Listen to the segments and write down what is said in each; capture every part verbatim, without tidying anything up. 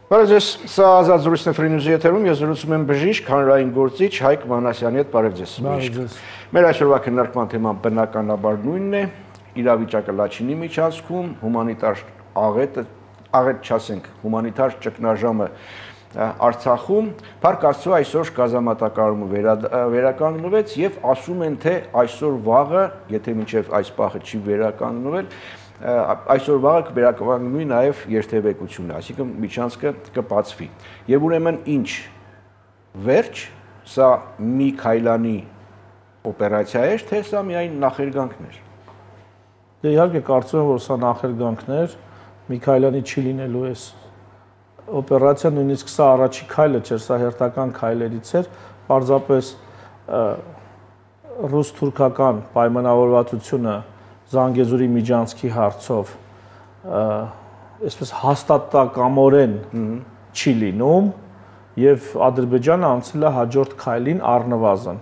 Բարև, սա Ազատ զրույցն է Free News-ի եթերում, ես զրուցում եմ բժիշկ, հանրային գործիչ Հայկ Մանասյանի հետ, բարև ձեզ։ Մեր այսօրվա քննարկման թեման բնականաբար նույնն է, իրավիճակը Լաչինի միջանցքում, հումանիտար աղետը, աղետ չասենք, հումանիտար ճգնաժամը Արցախում, Փառք Աստծո այսօր գազամատակարարումը վերականգնվեց եւ ասում են թե այսօր վաղը, եթե մինչեւ այս պահը չի վերականգնվել, այսօր վաղը կվերականգնվի նաև երթևեկությունը, այսինքն միջանցքը կբացվի։ Եվ ուրեմն ինչ վերջ, սա մի քայլանի օպերացիա էր, թե սա միայն նախերգանքն էր։ Դե իհարկե կարծում եմ, որ սա նախերգանքն էր, մի քայլանի չի լինելու էս օպերացիա, նույնիսկ սա առաջի քայլը չէր, սա հերթական քայլերից էր, պարզապես ռուս-թուրքական պայմանավորվածությունը Զանգեզուրի միջանցքի հարցով այսպես հաստատակամորեն չի լինում եւ Ադրբեջանը անցել է հաջորդ քայլին առնվազն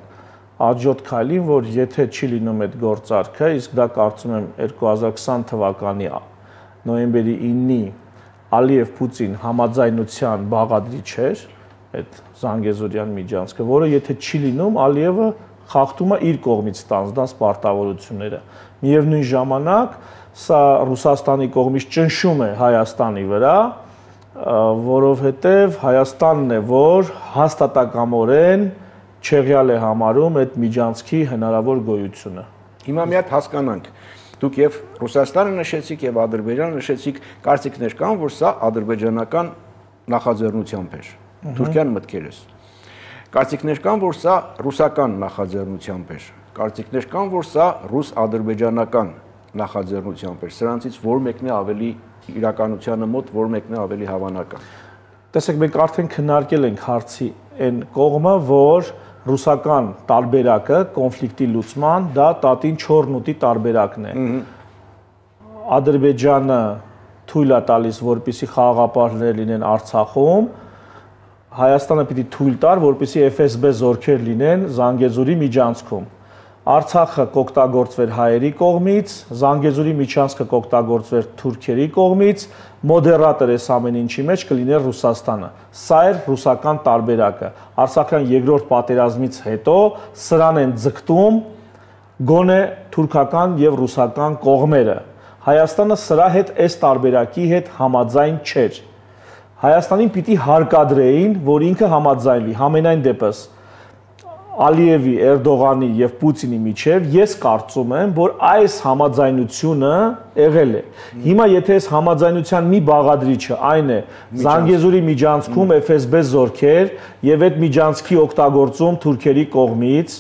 հաջորդ քայլին, որ եթե չի լինում այդ գործարքը, իսկ դա կարծում եմ երկու հազար քսան թվականի նոյեմբերի իննի Ալիև-Պուտին համաձայնության բաղադրիչ էր այդ Զանգեզուրյան միջանցքը, որը եթե չի լինում, Ալիևը խախտում է իր կողմից ստանձնած պարտավորությունները։ Միևնույն ժամանակ սա Ռուսաստանի կողմից ճնշում է Հայաստանի վրա, որովհետև Հայաստանն է, որ հաստատակամորեն չեղյալ է համարում այդ միջանցքի հնարավոր գոյությունը։ Հիմա մի հատ հասկանանք, դուք եւ Ռուսաստանը նշեցիք եւ Ադրբեջանը նշեցիք, կարծիքներ կան, որ սա ադրբեջանական նախաձեռնությամբ էր, Թուրքիան մտքերս։ Կարծիքներ կան, որ սա ռուսական նախաձեռնությամբ էր, կարծիքներ կան, որ սա ռուս-ադրբեջանական նախաձեռնությամբ էր, սրանցից որ մեկն է ավելի իրականությանը մոտ, որ մեկն է ավելի հավանական։ Տեսեք, մենք արդեն քննարկել ենք հարցի այն կողմը, որ ռուսական տարբերակը կոնֆլիկտի լուծման դա տատին չորնուտի տարբերակն է։ Ադրբեջանը թույլ է տալիս, որպեսզի խաղաղապահներ լինեն Արցախում, Հայաստանը պիտի թույլ տար, որպեսզի Էֆ Էս Բե զորքեր լինեն Զանգեզուրի միջանցքում։ Արցախը կօգտագործվեր հայերի կողմից, Զանգեզուրի միջանցքը կօգտագործվեր թուրքերի կողմից, մոդերատոր էս ամեն ինչի մեջ կլիներ Ռուսաստանը։ Սա էր ռուսական տարբերակը։ Արցախյան երկրորդ պատերազմից հետո սրան են ձգտում գոնե թուրքական եւ ռուսական կողմերը։ Հայաստանը սրա հետ այս տարբերակի հետ համաձայն չէր։ Հայաստանին պիտի հարկադրեին, որ ինքը համաձայնվի, համենայն դեպս Ալիևի, Էրդողանի եւ Պուտինի միջև ես կարծում եմ, որ այս համաձայնությունը եղել է։ Հիմա եթե այս համաձայնության մի բաղադրիչը այն է Զանգեզուրի միջանցքում Էֆ Էս Բե զորքեր եւ այդ միջանցքի օգտագործում թուրքերի կողմից,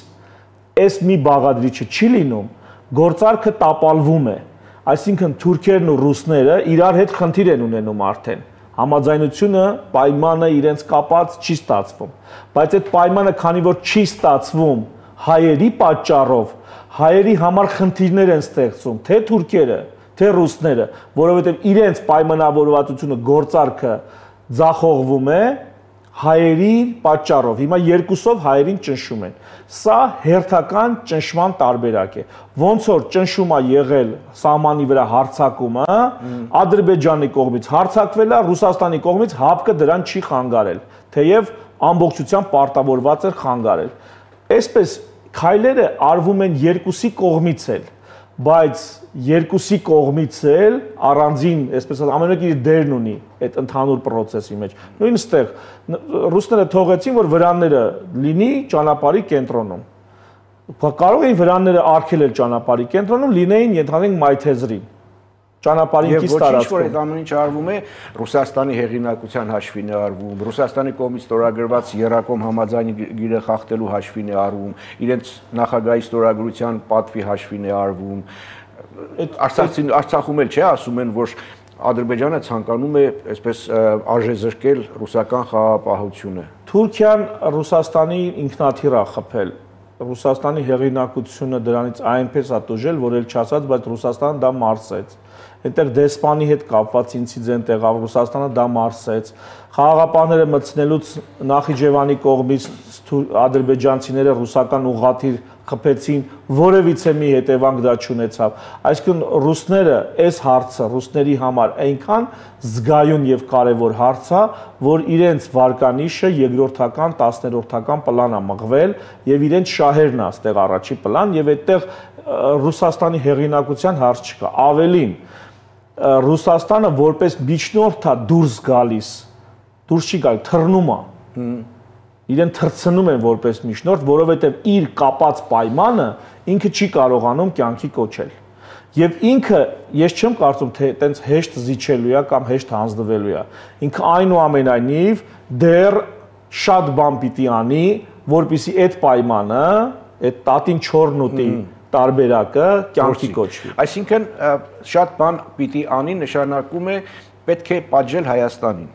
այս մի բաղադրիչը չի լինում, գործարքը տապալվում է։ Այսինքն թուրքերն ու ռուսները իրար հետ խնդիր են ունենում արդեն։ Համաձայնությունը, պայմանը իրենց կապած չի ստացվում, բայց այդ պայմանը, քանի որ չի ստացվում հայերի պատճառով, հայերի համար խնդիրներ են ստեղծում, թե թուրքերը, թե ռուսները, որովհետև իրենց պայմանավորվածությունը գործարքը ձախողվում է հայերի պատճառով, հիմա երկուսով հայերին ճնշում են, սա հերթական ճնշման տարբերակ է, ոնց որ ճնշում է եղել սահմանի վրա հարձակումը, Ադրբեջանի կողմից հարձակվել է, Ռուսաստանի կողմից հապկը դրան չի խանգարել, թեև ամբողջությամբ պարտավորված էր խանգարել, այսպես քայլերը արվում են երկուսի կողմից էլ, բայց երկուսի կողմից էլ առանձին, այսպես ամենուր իր դերն ունի այդ ընդհանուր process-ի մեջ։ Նույն ստեղ ռուսները թողեցին, որ վրանները լինի ճանապարհի կենտրոնում։ Կարող էին վրանները արգելել ճանապարհի կենտրոնում, լինեին ենթադրենք Մայթեզրին։ Ճանապարհին կից տարածքում։ Եվ ոչ ինչ որ այդ ամեն ինչ արվում է, Ռուսաստանի հեղինակության հաշվին է արվում, Ռուսաստանի կողմից ստորագրված Երակոմ համաձայնի գիրը խախտելու հաշվին է արվում, իրենց նախագահի ստորագրության պատվի հաշվին է արվում։ Այդ Արցախում էլ չէ, ասում են, որ Ադրբեջանը ցանկանում է այսպես արժեզրկել ռուսական խաղաղապահությունը։ Թուրքիան Ռուսաստանի ինքնաթիռ է խփել։ Ռուսաստանի հեղինակությունը դրանից այնպես է տուժել, որ էլ չասած, բայց Ռուսաստանը դա մարսեց։ Այնտեղ դեսպանի հետ կապված ինցիդենտ եղավ, Ռուսաստանը դա մարսեց։ Խաղաղապահները մտցնելուց Նախիջևանի կողմից ադրբեջանցիները ռուսական ուղղաթիռ խփեցին, որևիցե մի հետևանք դա չունեցավ։ Այսինքն ռուսները այս հարցը ռուսների համար այնքան զգայուն եւ կարեւոր հարց է, որ իրենց վարկանիշը երկրորդական, տասներորդական պլան է մղվել եւ իրենց շահերն է այստեղ առաջի պլան եւ այդտեղ Ռուսաստանի հեղինակության հարց չկա։ Ավելին, Ռուսաստանը որպես միջնորդ է դուրս գալիս, դուրս չի գալ, թռնում է։ Իրեն թռցնում են որպես միջնորդ, որովհետև իր կապած պայմանը ինքը չի կարողանում կյանքի կոչել։ Եվ ինքը, ես չեմ կարծում, թե այտենց հեշտ զիջելու է կամ հեշտ հանձնվելու է։ Ինքը այնուամենայնիվ դեռ շատ բան պիտի անի, որպեսզի այդ պայմանը, այդ տատին չորնուտի տարբերակը կյանքի կոչվի։ Այսինքն շատ բան պիտի անի, նշանակում է պետք է պատժել Հայաստանին։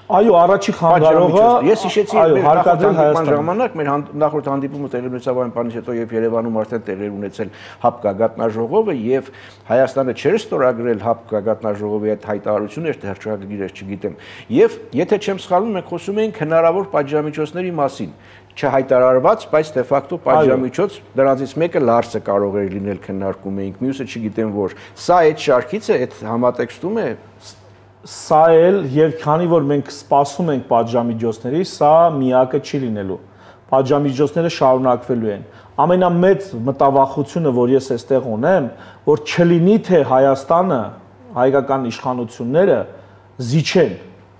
Այո, առաջի խանգարողը ես հիշեցի մեր նախորդ ժամանակ մեր նախորդ հանդիպումը տելևիզիոն բանից հետո եւ Երևանում արդեն տեղեր ունեցել ՀԱՊԿ գագաթնաժողովը եւ Հայաստանը չէր ստորագրել ՀԱՊԿ գագաթնաժողովի այդ հայտարարությունը, թե հրճակագիրը չգիտեմ։ Եվ եթե չեմ սխալվում, մենք խոսում էինք հնարավոր պատժամիջոցների մասին, չհայտարարված, բայց դե ֆակտո պատժամիջոց, դրանցից մեկը Լարսը կարող էր լինել, քննարկում էինք, մյուսը չգիտեմ որ։ Սա այդ շարքից է, այդ համատեքստում է։ Սա էլ եւ քանի որ մենք սպասում ենք պատժամիջոցների, սա միակը չի լինելու։ Պատժամիջոցները շարունակվելու են։ Ամենամեծ մտավախությունը, որ ես այստեղ ունեմ, որ չլինի թե Հայաստանը, հայկական իշխանությունները զիջեն,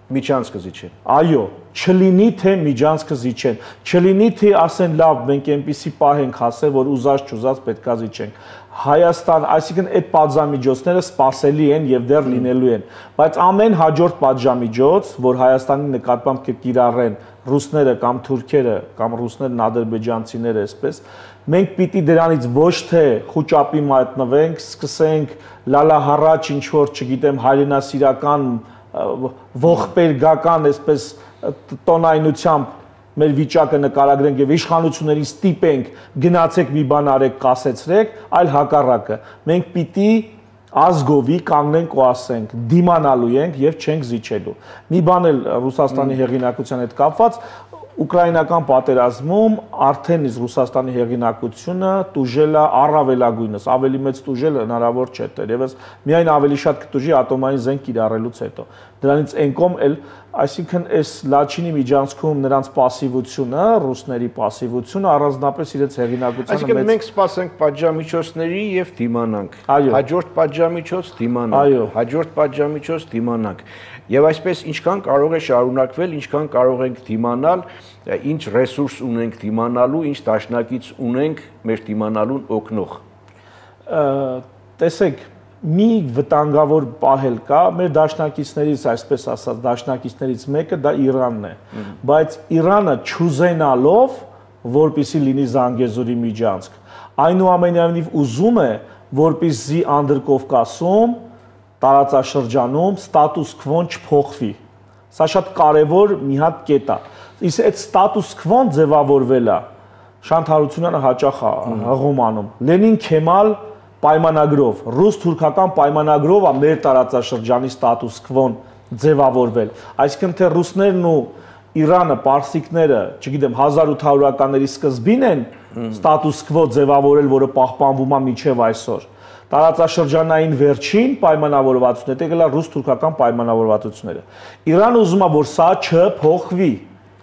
միջանցքը զիջեն։ Այո, չլինի թե միջանցքը զիջեն, չլինի թե ասեն լավ, մենք այնպեսի պահ ենք հասել, որ ուզած չուզած պետքա զիջենք։ Հայաստան, այսինքն այդ պատժամիջոցները սպասելի են եւ դեռ լինելու են, բայց ամեն հաջորդ պատժամիջոց, որ Հայաստանի նկատմամբ կկիրառեն ռուսները կամ թուրքերը կամ ռուսներն ադրբեջանցիները, այսպես, մենք պիտի դրանից ոչ թե խոճապի մատնվենք, սկսենք լալահառաչ ինչ որ, չգիտեմ, հայրենասիրական ողբերգական, այսպես տոնայնությամբ մեր վիճակը նկարագրենք եւ իշխանություններին ստիպենք գնացեք մի բան արեք, կասեցրեք, այլ հակառակը։ Մենք պիտի ազգովի կանգնենք ու ասենք, դիմանալու ենք եւ չենք զիջելու։ Մի բան էլ Ռուսաստանի հեղինակության հետ կապված, Ուկրաինական պատերազմում արդեն իսկ Ռուսաստանի հեղինակությունը տուժել է առավելագույնս, ավելի մեծ տուժել հնարավոր չէ, դերևս միայն ավելի շատ կտուժի ատոմային զենք կիրառելուց հետո։ Դրանից ենկոմ էլ, այսինքն այս Լաչինի միջանցքում նրանց պասիվությունը, ռուսների պասիվությունը առանձնապես իրենց հեղինակությանը մեծ։ Այսինքն մենք սպասենք պատժամիջոցների եւ դիմանանք։ Հաջորդ պատժամիջոց դիմանանք։ Հաջորդ պատժամիջոց դիմանանք։ Եվ այսպես ինչքան կարող է շարունակվել, ինչքան կարող ենք դիմանալ, ինչ ռեսուրս ունենք դիմանալու, ինչ դաշնակից ունենք մեր դիմանալուն օգնող։ Տեսեք, մի վտանգավոր պահել կա, մեր դաշնակիցներից, այսպես ասած, դաշնակիցներից մեկը դա Իրանն է, բայց Իրանը չուզենալով, որպեսզի լինի Զանգեզուրի միջանցք, այնուամենայնիվ ուզում է, որպեսզի Անդրկովկասում տարածաշրջանում ստատուս քվոն չփոխվի։ Սա շատ կարևոր մի հատ կետ է։ Իսկ այդ ստատուս քվոն ձևավորվել է Շանթ Հարությունյանը հաճախ հղում անում։ Լենին-Քեմալ պայմանագրով, ռուս-թուրքական պայմանագրով է մեր տարածաշրջանի ստատուս քվոն ձևավորվել։ Այսինքն թե ռուսներն ու Իրանը, պարսիկները, չգիտեմ, հազար ութ հարյուրականների սկզբին են ստատուս քվո ձևավորել, որը պահպանվում է մինչև այսօր։ Տարածաշրջանային վերջին պայմանավորվածությունները, դա գլա ռուս-թուրքական պայմանավորվածությունները։ Իրանը ուզում է, որ սա չփոխվի։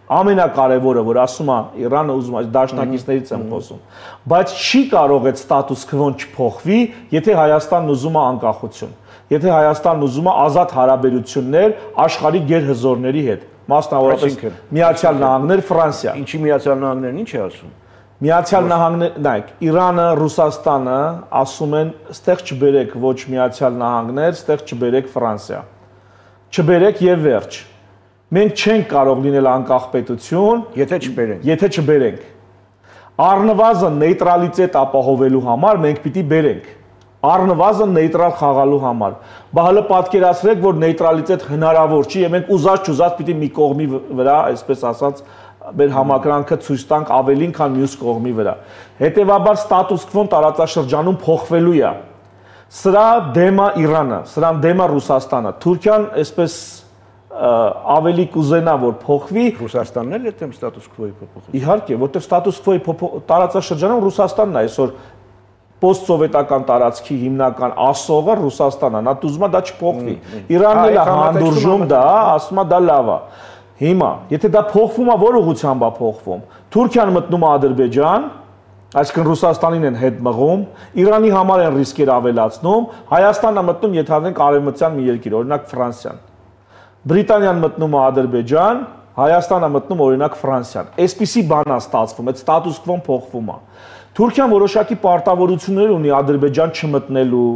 Ամենակարևորը, որ ասում է Իրանը ուզում է, դաշնակիցներից եմ խոսում, բայց չի կարող այդ ստատուս քվոն չփոխվի, եթե Հայաստանն ուզում է անկախություն, եթե Հայաստանն ուզում է ազատ հարաբերություններ աշխարհի գերհզորների հետ, մասնավորապես Միացյալ Նահանգներ, Ֆրանսիա։ Ինչի Միացյալ Նահանգներն ինչ է ասում։ Միացյալ Նահանգներ, նայեք, Իրանը, Ռուսաստանը ասում են, ստեղ չբերեք ոչ Միացյալ Նահանգներ, ստեղ չբերեք Ֆրանսիա։ Չբերեք եւ վերջ։ Մենք չենք կարող լինել անկախ պետություն, եթե չբերենք։ Եթե չբերենք։ Առնվազն նեյտրալիտետ ապահովելու համար մենք պիտի բերենք։ Առնվազն նեյտրալ խաղալու համար։ Բա հələ պատկերացրեք, որ նեյտրալիտետ հնարավոր չի, եւ մենք ուզած-չուզած պիտի մի կողմի վրա, այսպես ասած, մեր համակրանքը ցույց տանք ավելին, քան մյուս կողմի վրա։ Հետևաբար ստատուս քվոն տարածաշրջանում փոխվելու է։ Սրա դեմ է Իրանը, սրան դեմ է Ռուսաստանը։ Թուրքիան այսպես ավելի կուզենա որ փոխվի Ռուսաստանն էլ է դեմ ստատուս քվոյի փոփոխության։ Իհարկե, որտեղ ստատուս քվոյի տարածաշրջանում Ռուսաստանն է այսօր post-սովետական տարածքի հիմնական ասողը Ռուսաստանն է, նա ուզում է դա չփոխվի։ Իրանն էլ է հանդուրժում դա, ասում է դա լավ է։ Հիմա, եթե դա փոխվում է, որ ուղղությամբ է փոխվում։ Թուրքիան մտնում է Ադրբեջան, այսինքն Ռուսաստանին են հետ մղում, Իրանի համար են ռիսկեր ավելացնում, Հայաստանն է մտնում ենթադրենք արևմտյան մի երկիր, օրինակ Ֆրանսիան։ Բրիտանիան մտնում է Ադրբեջան, Հայաստանը մտնում օրինակ Ֆրանսիան։ Այսպիսի բան է ստացվում, այդ ստատուս քվոն փոխվում է։ Թուրքիան որոշակի պարտավորություններ ունի Ադրբեջան չմտնելու,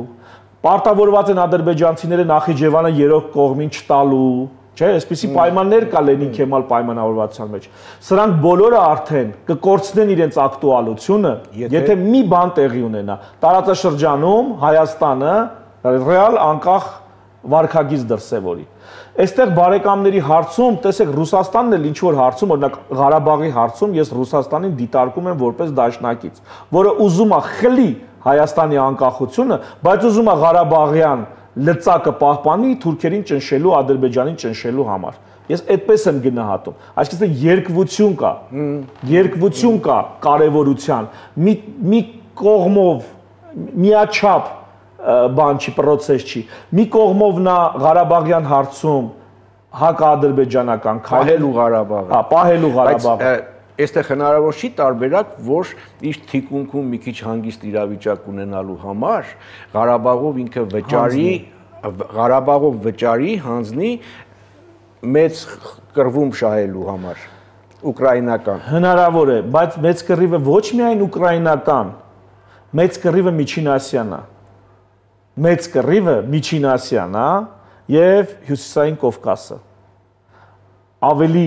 պարտավորված են ադրբեջանցիները Նախիջևանը երրորդ կողմին չտալու, չէ՞, այսպիսի պայմաններ կա Լենին Քեմալ պայմանավորվածության մեջ։ Սրանք բոլորը արդեն կկորցնեն իրենց ակտուալությունը, եթե մի բան տեղի ունենա։ Տարածաշրջանում Հայաստանը ռեալ անկախ վարքագիծ դրսևորի։ Այստեղ բարեկամների հարցում, տեսեք, Ռուսաստանն էլ ինչ որ հարցում, օրինակ Ղարաբաղի հարցում ես Ռուսաստանին դիտարկում եմ որպես դաշնակից, որը ուզում է խլի Հայաստանի անկախությունը, բայց ուզում է Ղարաբաղյան լծակը պահպանի թուրքերին ճնշելու, Ադրբեջանին ճնշելու համար։ Ես այդպես եմ գնահատում։ Այսինքն երկվություն կա, երկվություն կա կարևորության, մի մի կողմով միաչափ բան չի, process չի։ Մի կողմով նա Ղարաբաղյան հարցում հակաադրբեջանական քայլելու Ղարաբաղը։ Հա, պահելու Ղարաբաղը։ Այստեղ հնարավոր չի տարբերակ, որ իր թիկունքում մի քիչ հանգիստ իրավիճակ ունենալու համար Ղարաբաղով ինքը վճարի, Ղարաբաղով վճարի հանձնի մեծ կռվում շահելու համար ուկրաինական։ Հնարավոր է, բայց մեծ կռիվը ոչ միայն ուկրաինական, մեծ կռիվը միջինասիան է։ Մեծ կռիվը Միջին Ասիան է եւ Հյուսիսային Կովկասը։ Ավելի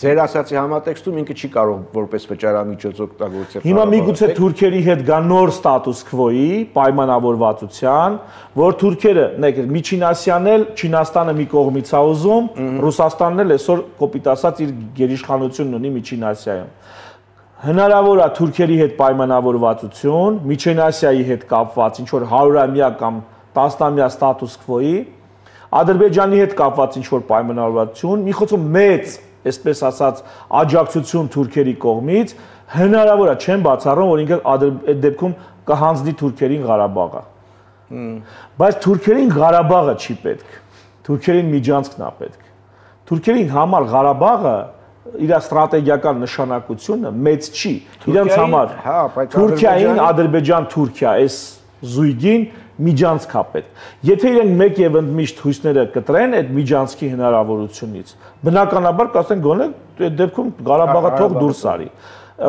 ձեր ասացի համատեքստում ինքը չի կարող որպես վճարամիջոց օգտագործել։ Հիմա միգուցե թուրքերի հետ գա նոր ստատուս քվոյի պայմանավորվածության, որ թուրքերը, նայեք, Միջին Ասիան էլ Չինաստանը մի կողմից է ուզում, Ռուսաստանն էլ այսօր կոպիտ ասած իր գերիշխանությունն ունի Միջին Ասիայում։ Հնարավոր է թուրքերի հետ պայմանավորվածություն, Միջին Ասիայի հետ կապված ինչ որ հարյուրամյա կամ տասնամյա ստատուս քվոյի, Ադրբեջանի հետ կապված ինչ որ պայմանավորվածություն, մի խոսքով մեծ, այսպես ասած, աջակցություն թուրքերի կողմից, հնարավոր է չեն բացառում, որ ինքը այդ դեպքում կհանձնի թուրքերին Ղարաբաղը։ Բայց թուրքերին Ղարաբաղը չի պետք։ Թուրքերին Միջանցքն է պետք։ Թուրքերին համար Ղարաբաղը իր ստրատեգիական նշանակությունը մեծ չի։ Իրանց համար Թուրքիային, Ադրբեջան-Թուրքիա այս զույգին միջանցք է պետք։ Եթե իրենք մեկ եւ ընդմիշտ հույսները կտրեն այդ միջանցքի հնարավորությունից, բնականաբար կասեն գոնե այդ դեպքում Ղարաբաղը թող դուրս արի։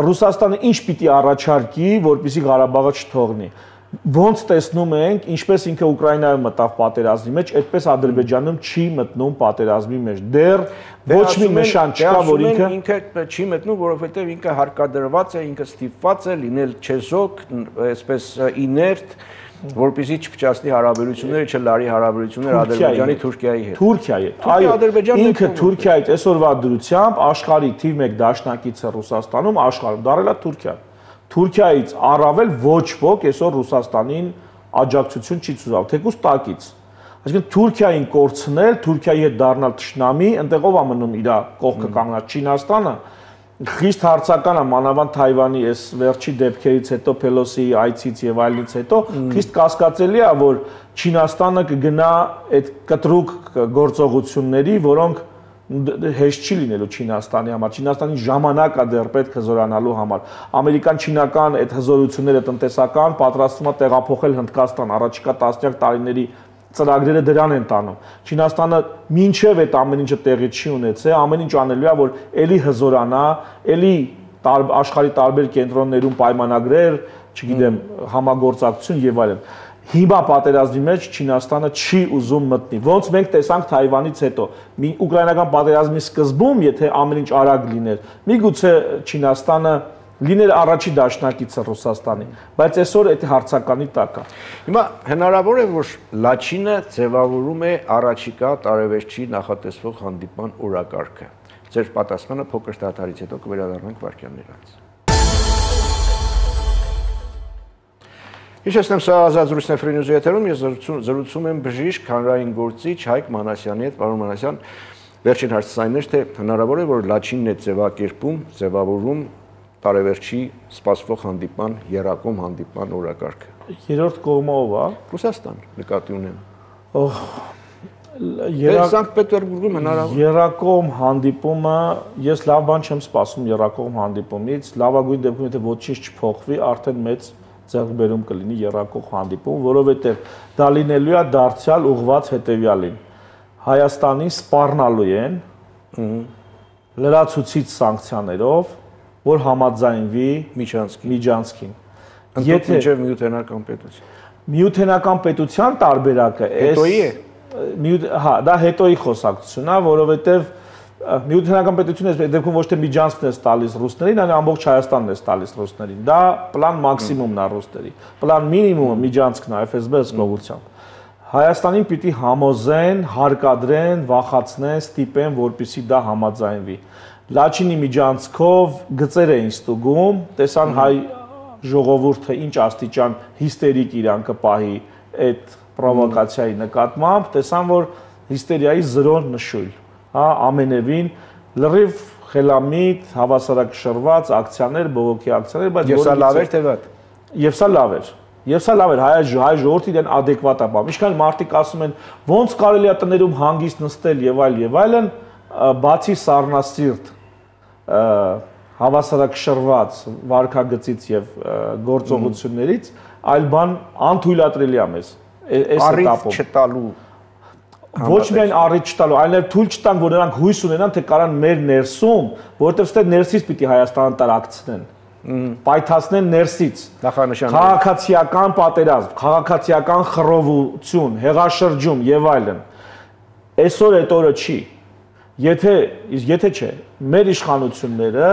Ռուսաստանը ինչ պիտի առաջարկի, որպեսզի Ղարաբաղը չթողնի։ Ոնց տեսնում ենք, ինչպես ինքը Ուկրաինայում մտավ պատերազմի մեջ, այդպես Ադրբեջանում չի մտնում պատերազմի մեջ։ Դեռ ոչ մի նշան չկա, որ ինքը ինքը չի մտնում, որովհետև ինքը հարկադրված է, ինքը ստիպված է լինել չեզոք, այսպես իներտ, որպեսզի չփչացնի հարաբերությունները, չլարի հարաբերությունները Ադրբեջանի Թուրքիայի հետ։ Թուրքիայի հետ։ Այո, ինքը Թուրքիայից այսօրվա դրությամբ աշխարհի թիվ մեկ դաշնակիցը Ռուսաստանում աշխարհում դարել է Թուրքիան։ Թուրքիայից առավել ոչ ոք այսօր Ռուսաստանին աջակցություն չի ցույց, թեկուզ տակից։ Այսինքն Թուրքիային կորցնել, Թուրքիայի հետ դառնալ թշնամի, ընտեղով է մնում իր կողքը կանգնած Չինաստանը, խիստ հարցական է մանավանդ Թայվանի այս վերջի դեպքերից հետո Փելոսիի այցից եւ այլնից հետո խիստ կասկածելի է, որ Չինաստանը կգնա այդ կտրուկ գործողությունների, որոնք հեշտ չի լինելու Չինաստանի համար։ Չինաստանի ժամանակ է դեռ պետք հզորանալու համար։ Ամերիկան-չինական այդ հզորությունները տնտեսական պատրաստվում է տեղափոխել Հնդկաստան առաջիկա տասնյակ տարիների ծրագրերը դրան են տանում։ Չինաստանը մինչև այդ ամեն ինչը տեղի չի ունեցել, ամեն ինչ անելու է, որ էլի հզորանա, էլի աշխարհի տարբեր կենտրոններում պայմանագրեր, չգիտեմ, համագործակցություն եւ այլն։ Հիմա պատերազմի մեջ Չինաստանը չի ուզում մտնի։ Ոնց մենք տեսանք Թայվանից հետո, մի ուկրաինական պատերազմի սկզբում, եթե ամեն ինչ արագ լիներ, միգուցե Չինաստանը լիներ առաջի դաշնակիցը Ռուսաստանի, բայց այսօր այդ հարցականի տակ է։ Հիմա հնարավոր է, որ Լաչինը ձևավորում է առաջիկա տարեվերջի նախատեսվող հանդիպման օրակարգը։ Ձեր պատասխանը փոքր դադարից հետո կվերադառնանք վարքյաններ անց։ Հիշեցնեմ, սա Ազատ զրույցն է Free News եթերում, ես զրուցում եմ բժիշկ, հանրային գործիչ Հայկ Մանասյանի հետ, պարոն Մանասյան, Վերջին հարցս այն էր, թե հնարավոր է, որ Լաչինն է ձևակերպում, ձևավորում տարեվերջի սպասվող հանդիպման, եռակողմ հանդիպման օրակարգը։ Երրորդ կողմը ով է։ Ռուսաստան նկատի ունեմ։ Օհ, Սանկտ Պետերբուրգում հնարավոր։ Եռակողմ հանդիպումը, ես լավ բան չեմ սպասում եռակողմ հանդիպումից, լավագույն դեպքում եթե ոչինչ չփոխվի, արդեն մեծ ձեռքբերում կլինի եռակողմ հանդիպում, որովհետև դա լինելու է դարձյալ ուղղված հետևյալին։ Հայաստանին սպառնալու են լրացուցիչ սանկցիաներով, որ համաձայնվի Միջանցքին։ Եթե միութենական պետություն։ Միութենական պետության տարբերակը հետոյի է։ Հա, դա հետոյի խոսակցությունն է, որովհետև միութենական պետությունը այս դեպքում ոչ թե Միջանցքն է տալիս ռուսներին, այլ ամբողջ Հայաստանն է տալիս ռուսներին։ Դա պլան մաքսիմումն է ռուսների։ Պլան մինիմումը Միջանցքն է Էֆ Էս Բե ըսկողությամբ։ Հայաստանին պիտի համոզեն, հարկադրեն, վախացնեն, ստիպեն, որպեսզի դա համաձայնվի։ Լաչինի միջանցքով գծեր էին ստուգում, տեսան հայ ժողովուրդը ինչ աստիճան հիստերիկ իրան կպահի այդ պրովոկացիայի նկատմամբ, տեսան, որ հիստերիայի զրո նշույլ, հա, ամենևին լրիվ խելամիտ, հավասարակշռված ակցիաներ, բողոքի ակցիաներ, բայց եւ սա լավ էր թե վատ։ Եվ սա լավ էր։ Եվ սա լավ էր, հայ հայ ժողովրդի դեն ադեկվատ է բան։ Ինչքան մարդիկ ասում են, ոնց կարելի է տներում հանգիստ նստել եւ այլ եւ այլն, բացի սառնասիրտ հավասարակշռված վարքագծից եւ գործողություններից, այլ բան անթույլատրելի է մեզ։ Այս этаպում չտալու ոչ միայն առիթ չտալու, այլև թույլ չտան, որ նրանք հույս ունենան, թե կարան մեր ներսում, որովհետև ստե ներսից պիտի Հայաստանը տարածցնեն, պայթացնեն ներսից, քաղաքացիական պատերազմ, քաղաքացիական խռովություն, հեղաշրջում եւ այլն։ Այսօր այդ օրը չի։ Եթե եթե չէ, մեր իշխանությունները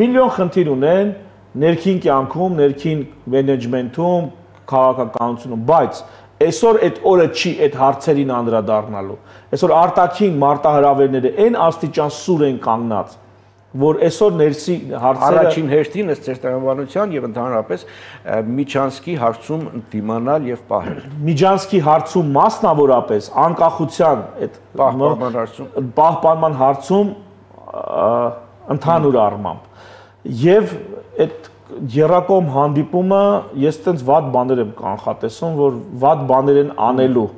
միլիոն խնդիր ունեն ներքին կյանքում, ներքին մենեջմենթում, քաղաքականությունում, բայց այսօր այդ օրը չի այդ հարցերին անդրադառնալու։ Այսօր արտաքին մարտահրավերները այն աստիճան սուր են կանգնած, որ այսօր ներսի հարցերը առաջին հերթին ըստ ձեր տրամաբանության եւ ընդհանրապես Միջանցքի հարցում դիմանալ եւ պահել։ Միջանցքի հարցում մասնավորապես անկախության այդ պահպանման հարցում պահպանման հարցում ընդհանուր առմամբ եւ այդ եռակողմ հանդիպումը ես այտենց վատ բաներ եմ կանխատեսում, որ վատ բաներ են անելու,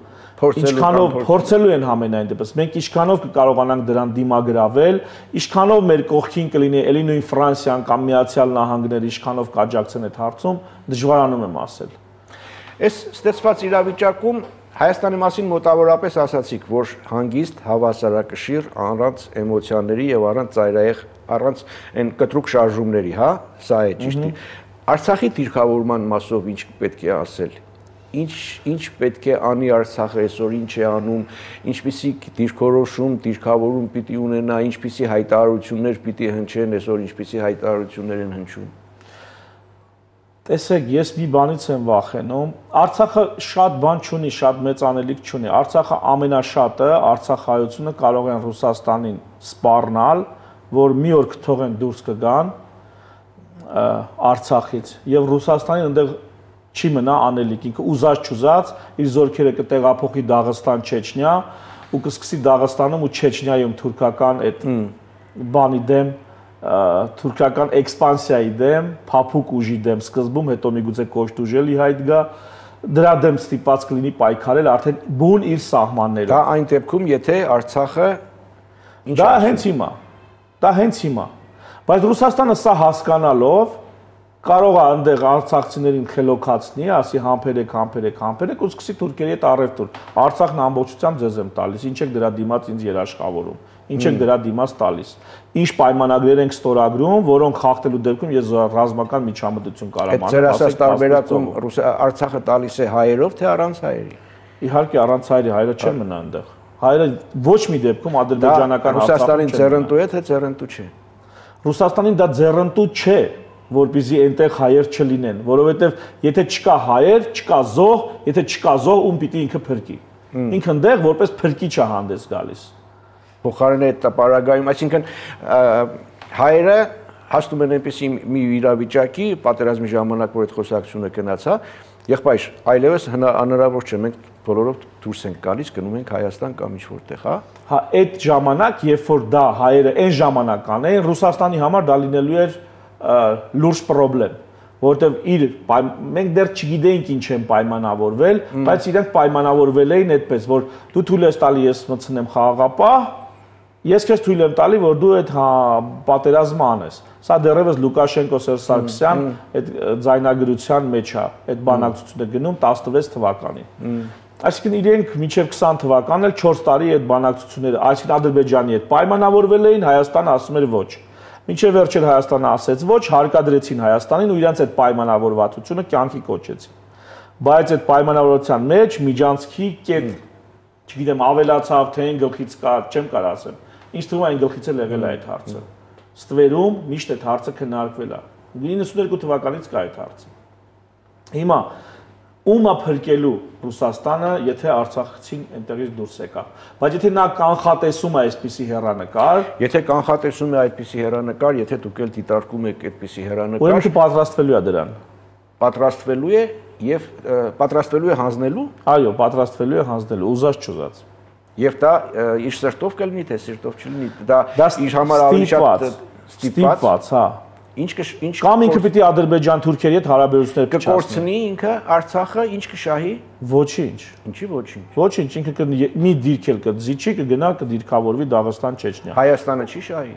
ինչքանով փորձելու են համենայն դեպս։ Մենք ինչքանով կկարողանանք դրան դիմագրավել, ինչքանով մեր կողքին կլինի էլի նույն Ֆրանսիան կամ Միացյալ Նահանգները, ինչքանով կաջակցեն այդ հարցում, դժվարանում եմ ասել։ Այս ստեցված իրավիճակում Հայաստանի մասին մոտավորապես ասացիք, որ հանգիստ, հավասարակշիռ, առանց էմոցիաների եւ առանց ծայրահեղ, առանց այն կտրուկ շարժումների, հա, սա է ճիշտ։ Արցախի դիրքավորման մասով ինչ պետք է ասել։ Ինչ ինչ պետք է անի Արցախը այսօր, ինչ է անում, ինչպիսի դիրքորոշում, դիրքավորում պիտի ունենա, ինչպիսի հայտարարություններ պիտի հնչեն այսօր, ինչպիսի հայտարարություններ են հնչում։ Տեսեք, ես մի բանից եմ վախենում, Արցախը շատ բան չունի, շատ մեծ անելիք չունի, Արցախը ամենաշատը, Արցախայությունը կարող են Ռուսաստանին սպառնալ, որ մի օր կթողեն դուրս կգան Արցախից եւ Ռուսաստանին այնտեղ չի մնա անելիք, ինքը ուզած չուզած իր զորքերը կտեղափոխի Դաղստան, Չեչնիա ու կսկսի Դաղստանում ու Չեչնիայում թուրքական այդ բանի դեմ թուրքական էքսպանսիայի դեմ, փափուկ ուժի դեմ սկզբում, հետո միգուցե կոշտ ուժելի հայտ գա, դրա դեմ ստիպված կլինի պայքարել արդեն բուն իր սահմաններով։ Դա այն դեպքում, եթե Արցախը դա հենց հիմա, դա հենց հիմա։ Բայց Ռուսաստանը սա հասկանալով կարող է այնտեղ արցախցիներին խելոքացնի, ասի համբերեք, համբերեք, համբերեք ու սկսի թուրքերի հետ առևտուր։ Արցախն ամբողջությամբ ձեզ եմ տալիս, ինչ եք դրա դիմաց ինձ երաշխավորում, ինչ եք դրա դիմաց տալիս։ Ինչ պայմանագրեր ենք ստորագրում, որոնք խախտելու դեպքում ես ռազմական միջամտություն կարամ անել։ Ձեր ասած տարբերակում Արցախը տալիս է հայերով թե առանց հայերի։ Իհարկե առանց հայերի, հայերը չեն մնա այնտեղ։ Հայերը ոչ մի դեպքում ադրբեջանական Ռուսաստանին ձեռնտու է թե ձեռնտու չէ։ Ռուսաստանին դա ձեռնտու չէ, որպեսզի այնտեղ հայեր չլինեն, որովհետև եթե չկա հայեր, չկա զոհ, եթե չկա զոհ, ում պիտի ինքը փրկի։ Ինքը այնտեղ որպես փրկիչ է հանդես գալիս։ Փոխարեն այդ տպարագայում, այսինքն հայերը հասնում են այնպեսի մի իրավիճակի, պատերազմի ժամանակ որ այդ խոսակցությունը գնաց, հա, եղբայր, այլևս հնարավոր չէ, մենք բոլորով դուրս ենք գալիս, գնում ենք Հայաստան կամ ինչ որտեղ, հա։ Հա, այդ ժամանակ, երբ որ դա հայերը այն ժամանակ անեն, Ռուսաստանի համար դա լինելու էր լուրջ խնդրեմ, որովհետև իր մենք դեռ չգիտեինք ինչ են պայմանավորվել, բայց իրենք պայմանավորվել էին այդպես, որ դու թույլ ես տալի ես մտցնեմ խաղաղապահ, ես քեզ թույլ եմ տալի, որ դու այդ պատերազմը անես։ Սա դեռևս Լուկաշենկո Սերժ Սարգսյան այդ ձայնագրության մեջ է, այդ բանակցությունը գնում տասնվեց թվականին։ Այսինքն իրենք մինչև քսան թվականն էլ չորս տարի այդ բանակցությունները, այսինքն Ադրբեջանի հետ պայմանավորվել էին, Հայաստանը ասում էր ոչ։ Մինչև վերջել Հայաստանը ասեց ոչ, հարկադրեցին Հայաստանին ու իրենց այդ պայմանավորվածությունը կյանքի կոչեցին։ Բայց այդ պայմանավորվածության մեջ միջանցքի կետ, չգիտեմ, ավելացավ, թե այն գլխից կա, չեմ կարող ասեմ։ Ինչ թվում է այն գլխից էլ եղել է այդ հարցը։ Ստվերում միշտ այդ հարցը քննարկվել է։ իննսուններկու թվականից կա այդ հարցը։ Հիմա ում է փրկելու Ռուսաստանը, եթե Արցախցին այնտեղից դուրս եկա։ Բայց եթե նա կանխատեսում է այսպիսի հեռանկար, եթե կանխատեսում է այդպիսի հեռանկար, եթե դուք էլ դիտարկում եք այդպիսի հեռանկար, ուրեմն պատրաստվելու է դրան։ Պատրաստվելու է եւ պատրաստվելու է հանձնելու։ Այո, պատրաստվելու է հանձնելու, ուզած չուզած։ Եվ դա իր սրտով կլինի, թե սրտով չլինի, դա իր համար ավելի շատ ստիպված, հա։ Ինչ ինչ կամ ինքը պիտի Ադրբեջան-Թուրքիայի հետ հարաբերություններ կկորցնի ինքը Արցախը, ինչ կշահի։ Ոչինչ։ Ինչի ոչինչ։ Ոչինչ, ինքը մի դիրք էլ կձիչի, կգնա, կդիրքավորվի Դաղստան, Չեչնիա։ Հայաստանը չի շահի։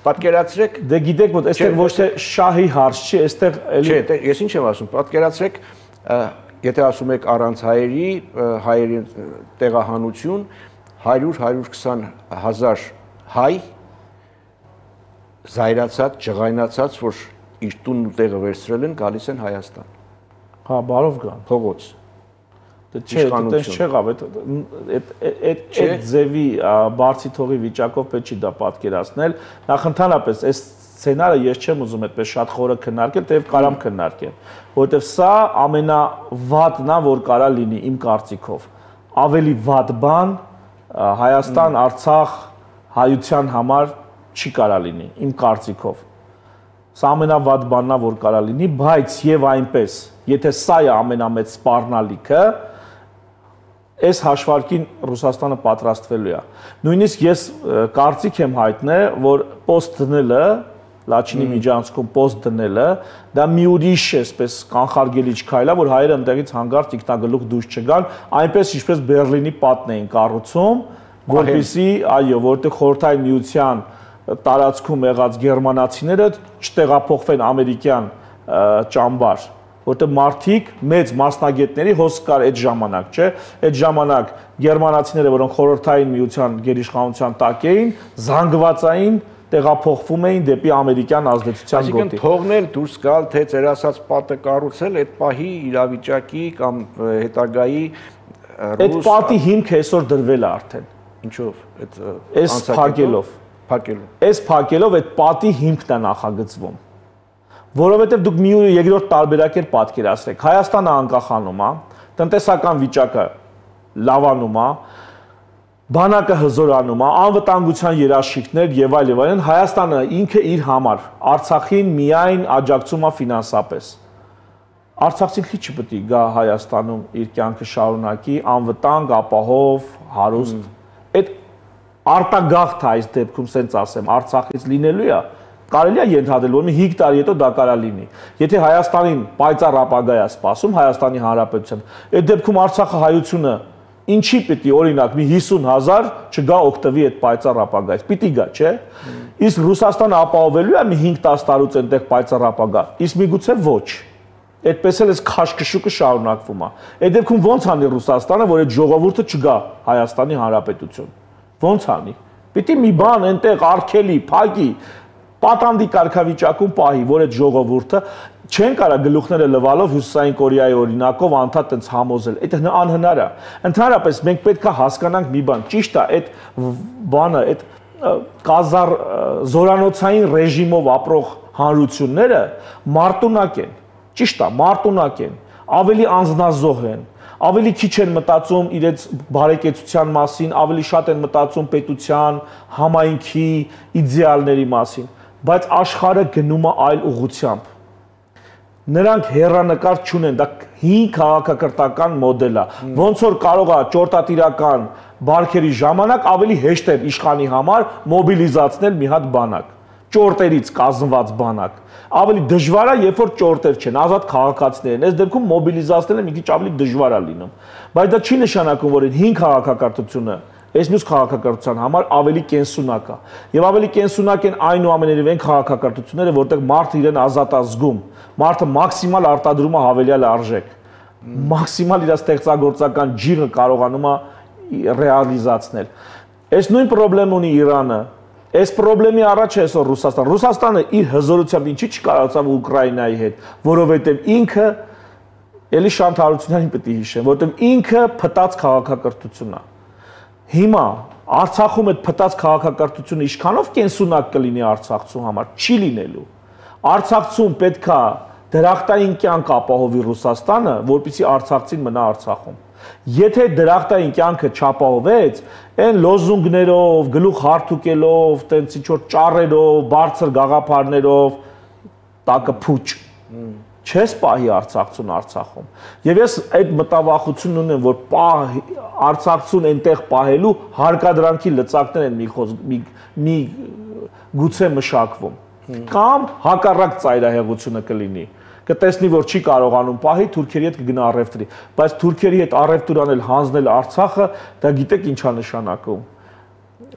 Պատկերացրեք, դե գիտեք, որ այստեղ ոչ թե շահի հարց չի, այստեղ էլի։ Չէ, ես ինչ եմ ասում, պատկերացրեք, եթե ասում եք առանց հայերի, հայերի տեղահանություն հարյուր հարյուր քսան հազար հայ զայրացած, ջղայնացած, որ իր տունն ու տեղը վերցրել են, գալիս են Հայաստան։ Հա, բարով գան։ Փողոց։ Դե չէ, այդպես չեղավ, այդ այդ այդ ձևի բարձի թողի վիճակով պետք չի դա պատկերացնել։ Նախընդհանրապես այս սցենարը ես չեմ ուզում այդպես շատ խորը քննարկել, թեև կարամ քննարկեմ, որովհետև սա ամենավատն է, որ կարա լինի իմ կարծիքով։ Ավելի վատ բան Հայաստան, Արցախ հայության համար չի կարա լինի իմ կարծիքով։ Սա ամենավատ բանն է, որ կարա լինի, բայց եւ այնպես, եթե սա է ամենամեծ սպառնալիքը, այս հաշվարկին Ռուսաստանը պատրաստվելու է։ Նույնիսկ ես կարծիք եմ հայտնել, որ post դնելը, Լաչինի միջանցքում post դնելը, դա մի ուրիշ է, այսպես կանխարգելիչ քայլ է, որ հայերը այնտեղից հանգարց ինքնագլուխ դուրս չգան, այնպես ինչպես Բերլինի պատն էին կառուցում, որպեսզի, այո, որտեղ Խորհրդային Միության տարածքում եղած գերմանացիները չտեղափոխվեն ամերիկյան ճամբար, որտեղ մարդիկ մեծ մասնագետների հոս կար այդ ժամանակ, չէ, այդ ժամանակ գերմանացիները, որոնք Խորհրդային Միության գերիշխանության տակ էին, զանգվածային տեղափոխվում էին դեպի ամերիկյան ազդեցության գոտի։ Այսինքն թողնել դուրս գալ, թե ծեր ասած պատը կառուցել, այդ պահի իրավիճակի կամ հետագայի այդ պատի հիմքը այսօր դրվել է արդեն։ Ինչով։ Այս փակելով Փակելով։ Այս փակելով այդ պատի հիմքն է նախագծվում։ Որովհետև դուք մի երկրորդ տարբերակ էլ պատկերացրեք։ Հայաստանը անկախանում է, տնտեսական վիճակը լավանում է, բանակը հզորանում է, անվտանգության երաշխիքներ եւ այլ եւ այլն, Հայաստանը ինքը իր համար Արցախին միայն աջակցում է ֆինանսապես։ Արցախցին քիչ չպետք է գա Հայաստանում իր կյանքը շարունակի անվտանգ, ապահով, հարուստ։ Այդ արտագաղթ այս դեպքում սենց ասեմ, Արցախից լինելու է, կարելի է ենթադրել, որ մի հինգ տարի հետո դա կարա լինի։ Եթե Հայաստանին պայծառ ապագա է սպասում Հայաստանի Հանրապետության, այդ դեպքում Արցախը հայությունը ինչի պիտի օրինակ մի հիսուն հազար չգա օգտվի այդ պայծառ ապագայից։ Պիտի գա, չէ՞։ Իսկ Ռուսաստանը ապահովելու է մի հինգ-տասը տարուց այնտեղ պայծառ ապագա։ Իսկ միգուցե ոչ։ Այդպես էլ էս քաշքշուկը շարունակվում է։ Այդ դեպքում ո՞նց անի Ռուսաստանը, որ այդ ժողովուրդը չգա Հայաստանի Հանրապետություն։ Ո՞նց անի։ Պիտի մի բան այնտեղ արգելի, փակի, պատանդի կարգավիճակում պահի, որ այդ ժողովուրդը չեն կարա գլուխները լվալով Հյուսիսային Կորեայի օրինակով անդադ այնց համոզել։ Այդ անհնար է։ Ընդհանրապես մենք պետք է հասկանանք մի բան, ճիշտ է, այդ բանը, այդ կազար զորանոցային ռեժիմով ապրող հանրությունները մարտունակ են։ Ճիշտ է, մարտունակ են, ավելի անձնազոհ են, ավելի քիչ են մտածում իրենց բարեկեցության մասին, ավելի շատ են մտածում պետության, համայնքի, իդեալների մասին, բայց աշխարհը գնում է այլ ուղղությամբ։ նրանք հերանեկար չունեն, դա հին քաղաքակրթական մոդել է, ոնց որ կարող է ճորտատիրական բարքերի ժամանակ ավելի հեշտ է իշխանի համար մոբիլիզացնել մի հատ բանակ, ճորտերից կազմված բանակ, ավելի դժվար է, երբ որ ճորտեր չեն, ազատ քաղաքացիներ են, այս դեպքում մոբիլիզացնելը մի քիչ ավելի դժվար է լինում, բայց դա չի նշանակում, որ հին քաղաքակրթությունը այս մյուս քաղաքակրթության համար ավելի կենսունակ է, եւ ավելի կենսունակ են այնուամենայնիվ այն քաղաքակրթությունները, որտեղ մարդը իրեն ազատ է զգում, մարդը մաքսիմալ արտադրում է հավելյալ արժեք, մաքսիմալ իր ստեղծագործական ջիղը կարողանում է ռեալիզացնել։ Այս նույն խնդրեմ ունի Իրանը, այս խնդրեմի առաջ է այսօր Ռուսաստանը։ Ռուսաստանը իր հզորությամբ ինչի չկարողացավ Ուկրաինայի հետ, որովհետև ինքը էլի Շանթ Հարությունյանին պետք է հիշեմ, որովհետև ինքը փտած քաղաքակրթություն է։ Հիմա Արցախում այդ փտած քաղաքակրթությունը ինչքանով կենսունակ կլինի արցախցու համար, չի լինելու։ Արցախցուն պետքա դրախտային կյանք ապահովի Ռուսաստանը, որպեսզի արցախցին մնա Արցախում։ Եթե դրախտային կյանքը չապահովեց, այն լոզունգներով, գլուխ հարթուկելով, տենց ինչ որ ճառերով, բարձր գաղափարներով, տակը փուչ, չես պահի արցախցուն Արցախում։ Եվ ես այդ մտավախությունն ունեմ, որ պահ արցախցուն այնտեղ պահելու հարկադրանքի լծակներ են մի մի, մի գուցե մշակվում։ Կամ հակառակ ծայրահեղությունը կլինի։ Կտեսնի, որ չի կարողանում պահի, թուրքերի հետ կգնա առևտրի, բայց թուրքերի հետ առևտուր անել, հանձնել Արցախը, դա գիտեք ինչ է նշանակում։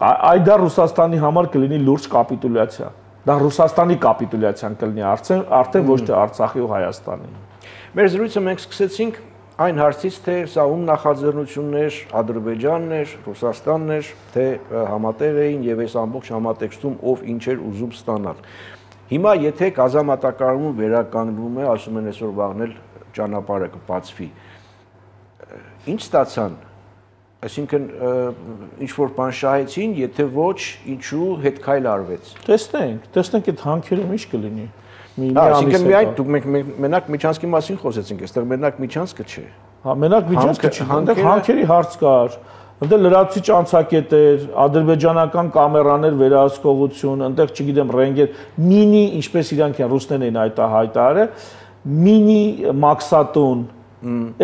Այդ դա Ռուսաստանի համար կլինի լուրջ կապիտուլյացիա։ Դա Ռուսաստանի կապիտուլյացիան կլինի արդեն, արդեն ոչ թե Արցախի ու Հայաստանի։ Մեր զրույցը մենք սկսեցինք այն հարցից, թե սա ում նախաձեռնությունն էր, Ադրբեջանն էր, Ռուսաստանն էր, թե համատեղ էին եւ այս ամբողջ համատեքստում ով ինչ էր ուզում ստանալ։ Հիմա եթե գազամատակարարումը վերականգնվում է, ասում են այսօր վաղնել ճանապարհը կբացվի։ Ինչ ստացան։ Այսինքն ինչ որ բան շահեցին, եթե ոչ, ինչու հետքայլ արվեց։ Տեսնենք, տեսնենք այդ հանքերում ինչ կլինի։ Այսինքն միայն դուք մենք մենակ Միչանսկի մասին խոսեցինք, այստեղ մենակ Միչանսկը չէ։ Հա, մենակ Միչանսկը չի, այնտեղ հանքերի հարց կար։ Այնտեղ լրացուցիչ անցակետ էր, ադրբեջանական կամերաներ վերահսկողություն, այնտեղ չգիտեմ ռենգեր, մինի, ինչպես իրանք են ռուսներն էին այդ հայտարարել, մինի մաքսատուն,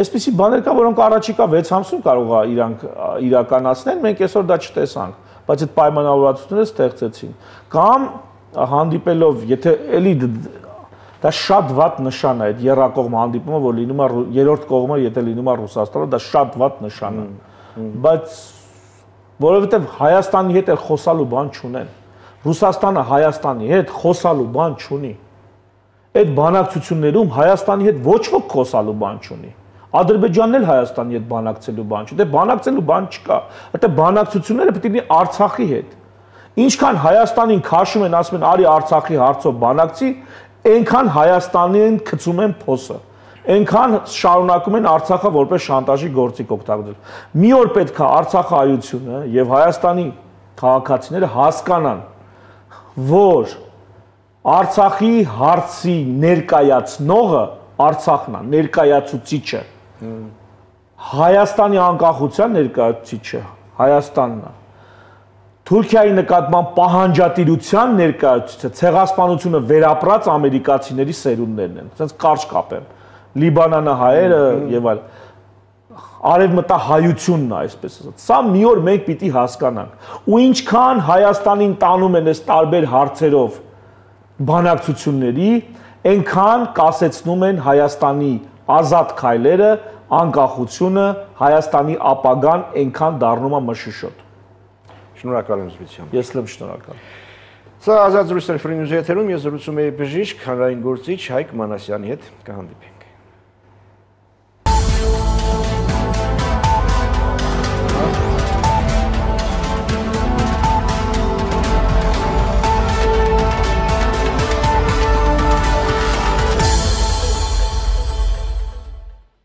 այսպիսի բաներ կա, որոնք առաջիկա վեց ամսում կարող է իրանք իրականացնել, մենք այսօր դա չտեսանք, բայց այդ պայմանավորվածությունները ստեղծեցին։ Կամ հանդիպելով, եթե էլի դա շատ վատ նշան է, այդ եռակողմ հանդիպումը, որ լինում է երրորդ կողմը, եթե լինում է Ռուսաստանը, դա շատ վատ նշան է։ Բայց որովհետև Հայաստանի հետ էլ խոսալու բան չունեն։ Ռուսաստանը Հայաստանի հետ խոսալու բան չունի։ Այդ բանակցություններում Հայաստանի հետ ոչ ոք խոսալու բան չունի։ Ադրբեջանն էլ Հայաստանի հետ բանակցելու բան չունի։ Դե բանակցելու բան չկա։ Այդտեղ բանակցությունները պետք է լինի Արցախի հետ։ Ինչքան Հայաստանին քաշում են, ասում են արի Արցախի հարցով բանակցի, այնքան Հայաստանին գցում են փոսը։ Այնքան շարունակում են Արցախը որպես շանտաժի գործիք օգտագործել։ Մի օր պետք է Արցախայությունը եւ Հայաստանի քաղաքացիները հասկանան, որ Արցախի հարցի ներկայացնողը Արցախն է, ներկայացուցիչը։ Հայաստանի անկախության ներկայացուցիչը Հայաստանն է։ Թուրքիայի նկատմամբ պահանջատիրության ներկայացուցիչը ցեղասպանությունը վերապրած ամերիկացիների սերունդներն են։ Ասենց կարճ կապեմ։ Լիբանանը հայերը եւ այլ արևմտահայությունն է, այսպես ասած։ Սա մի օր մենք պիտի հասկանանք։ Ու ինչքան Հայաստանին տանում են այս տարբեր հարցերով բանակցությունների, այնքան կասեցնում են Հայաստանի ազատ քայլերը, անկախությունը, Հայաստանի ապագան այնքան դառնում է մշուշոտ։ Շնորհակալ եմ զրույցին։ Ես լավ շնորհակալ։ Սա ազատ զրույցներ Free News եթերում, ես զրուցում եի բժիշկ, հանրային գործիչ Հայկ Մանասյանի հետ, կհանդիպի։